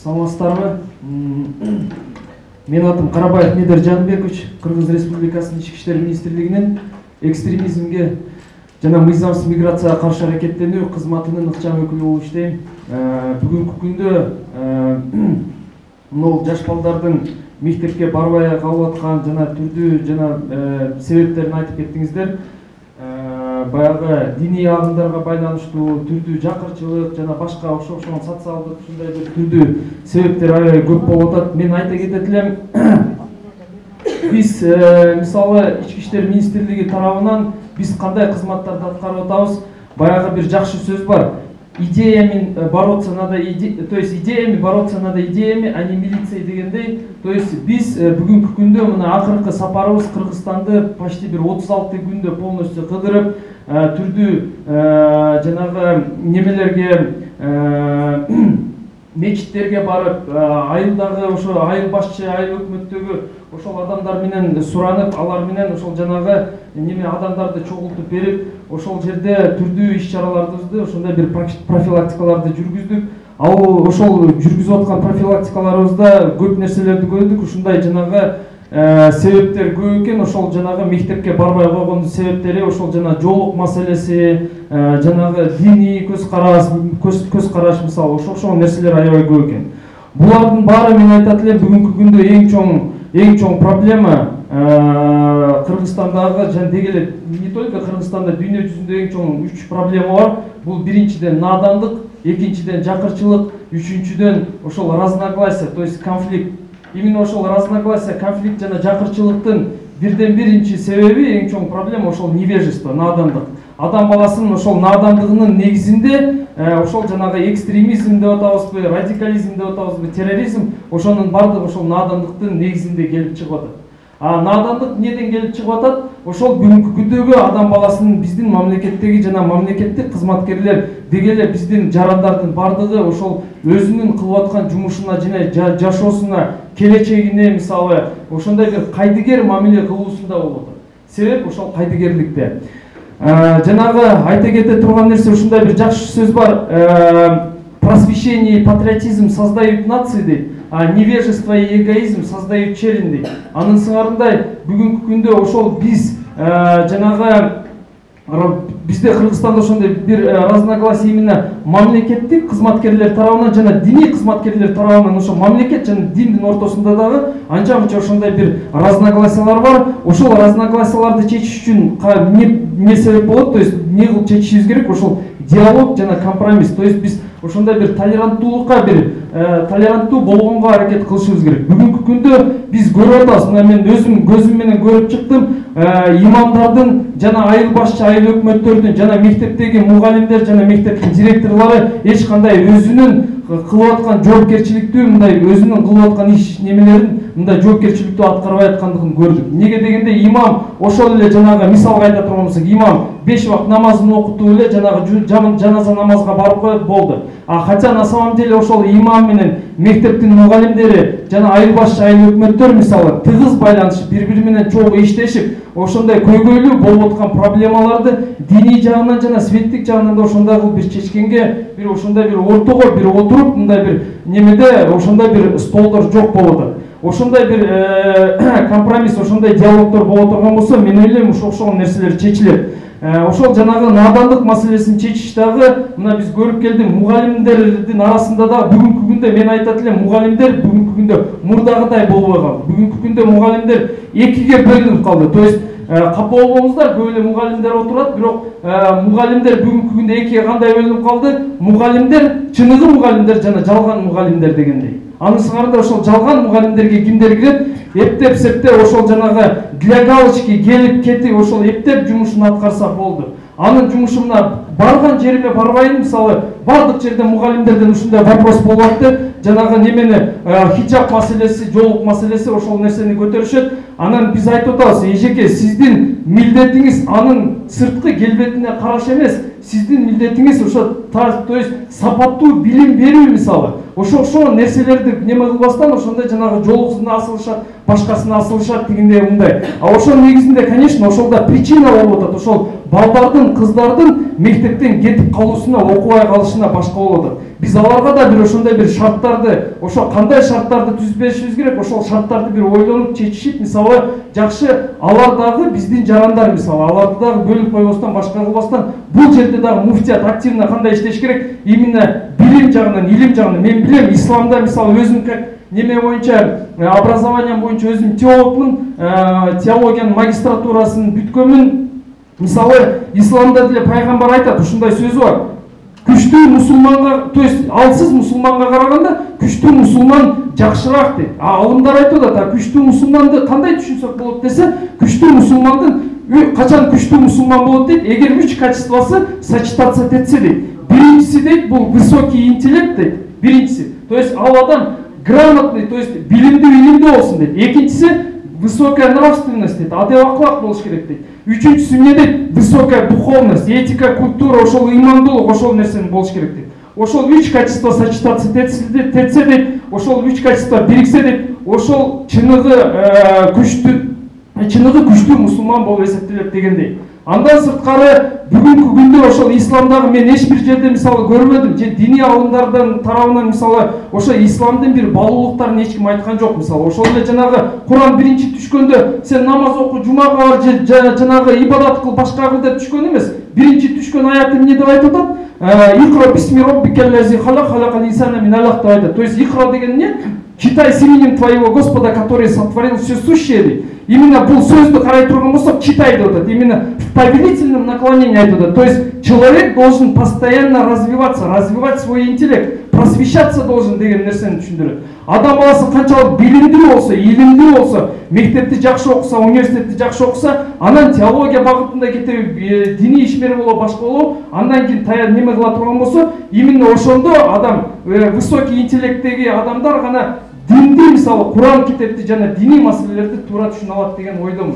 Саламатсыздарбы? Менин атым Карабаев Медер Жанбекович, Кыргыз Республикасынын Ички иштер министрлигинин экстремизмге жана мыйзамсыз миграцияга каршы аракеттенүү кызматынын ыкчам өкүлү болуп иштейм. Бүгүнкү күндө могул жаш балдардын мектепке барбай калып аткан жана түрдүү жана себептерин айтып кеттиңиздер. Баягы диний агымдарга байланыштуу түрдүү жакырчылык жана башка окшогон социалдык ушундай бир түрдүү себептер аябай көп болуп атат. Мен айта кетет элем, биз мисалы Ички иштер министрлиги тарабынан биз кандай кызматтарды аткарып атабыз? Баягы бир жакшы сөз бар. Идеями бороться надо, то есть идеями бороться надо идеями, а не милицией дегендей. То есть биз бүгүнкү күндө мына акыркы сапарыбыз Кыргызстанды почти бир 36 күндө полностью кыдырып, түрдүү жанагы немелерге мечиттерге барып, айылдагы ошо айыл башчы, айыл өкмөттөгү ошол адамдар менен суранып, алар менен ошол жанагы неме адамдарды чогултуп берип, ошол жерде түрдүү иш-чараларды, ошондой бир профилактикаларды жүргүздүк. Ал ошол жүргүзүп аткан профилактикаларыбызда көп нерселерди көрдүк. Ушундай жанагы себептер көп экен. Ошол жанагы мектепке барбай койгондун себептери ошол жана жоолук маселеси, жанагы диний көз караш мисалы ошол нерселер аябай көп экен. Булардын баары мен айтат элем, бүгүнкү күндө эң чоң проблема Кыргызстандагы жана деги эле не только Кыргызстанда, дүйнө жүзүндө эң чоң 3 проблема бар. Бул биринчиден надандык, экинчиден жакырчылык, үчүнчүдөн ошол разногласие, то есть конфликт. Именно ошол разногласие, конфликт жана жакырчылыктын биринчи себеби, эң чоң проблема ошол невежество, надандык. Адам баласынын ошол надандыгынын негизинде ошол жанагы экстремизм деп атабызбы, радикализм деп атабызбы, терроризм, ошонун бардыгы ошол надандыктын негизинде келип чыгып атат. Надандык неден келип чыгып атат? Ошол бүгүнкү күндөгү адам баласынын биздин мамлекеттеги жана мамлекеттик кызматкерлер деги эле биздин жарандардын бардыгы ошол өзүнүн кылып аткан жумушуна жана жашоосуна, келечегине мисалы ошондой бир кайдыгер мамиле кылуусунда болуп атат. Себеп ошол кайдыгерликте. Жанагы айта кете турган нерсе ушундай бир жакшы сөз бар. Просвещение и патриотизм создают нации дейт, а невежество и эгоизм создают челин дейт. Анын сыңарындай бүгүнкү күндө ошол биз жанагы бизде Кыргызстанда ошондой бир разногласие именно мамлекеттик кызматкерлер тарабынан жана диний кызматкерлер тарабынан, ошо мамлекет жана диндин ортосунда дагы анча-мынча ошондой бир разногласиялар бар. Ошол разногласияларды чечиш үчүн не себеп болот? То есть не кылып чечишибиз керек? Ошол диалог жана компромисс. То есть биз ошондой бир толеранттуулукка, бир толеранттуу болгонго аракет кылышыбыз керек. Бүгүнкү күндө биз көрүп атабыз, мына мен өзүм көзүм менен көрүп чыктым, имамдардын жана айыл башчы, айыл өкмөттөрдүн жана мектептеги мугалимдер жана мектептин директорлору эч кандай өзүнүн кылып аткан жоопкерчиликтүү, мындай өзүнүн кылып аткан иш немелерин мындай жоопкерчиликтүү аткарбай аткандыгын көрдүк. Неге дегенде имам ошол эле жанагы мисалга айта турган болсок, имам 5 вакыт намазын окутуп эле жанагы жаназа намазга барып коет, болду. Хотя на самом деле ошол имам менен мектептин мугалимдери жана айыл башчы, айыл өкмөттөр мисалы тыгыз байланышып, бири-бири менен чогуу иштешип, ошондой көйгөйлүү болуп аткан проблемаларды диний жагынан жана светтик жагынан да ошондой кылып бир чечкенге, бир ошондой бир ортого бир отуруп, мындай бир немеде ошондой бир столдор жок болуп атат. Ошондой бир компромисс, ошондой диалогдор боло турган болсо, мен ойлойм ошол нерселер чечилет. Ошол жанагы надандык маселесин чечиш дагы мына биз көрүп келдик, мугалимдердин арасында да бүгүнкү күндө мен айтат элем, мугалимдер бүгүнкү күндө мурдагыдай болбой калды. Бүгүнкү күндө мугалимдер экиге бөлүнүп калды. То есть капа болбоңуздар, көп эле мугалимдер отурат, бирок мугалимдер бүгүнкү күндө экиге кандай бөлүнүп калды? Мугалимдер, чыныгы мугалимдер жана жалган мугалимдер дегендей. Анын сыңарында ошол жалган мугалимдерге кимдер кирет? Эптеп-септеп ошол жанагы для галочки келип кетип ошол эптеп жумушун аткарса болду. Анын жумушуна барган жериме барбайм, мисалы бардык жерде мугалимдерден ушундай вопрос болуп атты. Жанагы немени хиджаб маселеси, жоолук маселеси ошол нерсени көтөрүшөт. Анан биз айтып атабыз, эжеке, сиздин милдетиңиз анын сырткы келбетине караш эмес, сиздин милдетиңиз ошо то есть сапаттуу билим берүү мисалы. Ошол нерселерди неме кылбастан ошондой жанагы жоолуксуна асылышат, башкасына асылышат дегендей мындай. Ошол негизинде, конечно, ошолда причина болуп атат. Ошол балдардын, кыздардын мектептен кетип калуусуна, окубай калышына башка болуп атат. биз аларга да бир ошондой бир шарттарды, ошо кандай шарттарды түзүп беришибиз керек, ошол шарттарды бир ойлонуп чечишип, мисалы жакшы алар дагы биздин жарандар, мисалы аларды дагы бөлүп койбостон, башка кылбастан, бул жерде дагы муфтият активно кандай иштеш керек, именно билим жагынан, илим жагынан. Мен билем, исламда мисалы өзүм неме боюнча, образованием боюнча өзүм теологмун, теологиянын магистратурасын бүткөнмүн. Мисалы исламда деле пайгамбар айтат, ушундай сөзү бар. Күчтүү мусулманга, то есть алсыз мусулманга караганда күчтүү мусулман жакшыраак дейт. Алымдар айтып атат, күчтүү мусулманды кандай түшүнсөк болот десе, күчтүү мусулмандын качан күчтүү мусулман болот дейт, эгер 3 качествосы сочетаться этсе дейт. Биринчиси дейт, бул высокий интеллект дейт. Биринчиси. То есть ал адам грамотный, то есть билимдүү болсун дейт. Экинчиси высокая нравственность дейт, адеп аклак болуш керек дейт. Үчүнчүсү эмне дейт? Высокая духовность, этика, культура, ошол ыймандуулук, ошол нерсени болуш керек дейт. Ошол 3 качество сочетаться этсе дейт, ошол 3 качество бириксе дейт, ошол чыныгы күчтүү мусулман болуп эсептелет дегендей. Андан сырткары бүгүнкү күндө ошол исламдагы мен эч бир жерде мисалы көрбөдүм, же диний алымдардын тарабынан мисалы ошо исламдын бир баалуулуктарын эч ким айткан жок. Мисалы ошол эле жанагы Куран биринчи түшкөндө сен намаз оку, жумага бар, же жанагы ибадат кыл, башка кыл деп түшкөн эмес. Биринчи түшкөн аят эмне деп айтып атат? Икра бисми роббикаллази халак, халакал инсана мин алак деп айтат. То есть икра деген эмне? Читай с именем твоего Господа, который сотворил все сущее. Именно бул сөздү карай турган болсок, читай деп атат. Именно в повелительном наклонении айтып атат. То есть человек должен постоянно развиваться, развивать свой интеллект, просвещаться должен деген нерсени түшүндүрөт. Адам баласы канчалык билимдүү болсо, илимдүү болсо, мектепти жакшы окуса, университетти жакшы окуса, анан теология багытында кетип, диний ишмер болуп, башка болуп, андан кийин неме кыла турган болсо, именно ошондо адам, высокий интеллекттеги адамдар гана динди, мисалы Куран китепти жана диний маселелерди туура түшүнө алат деген ойдомун.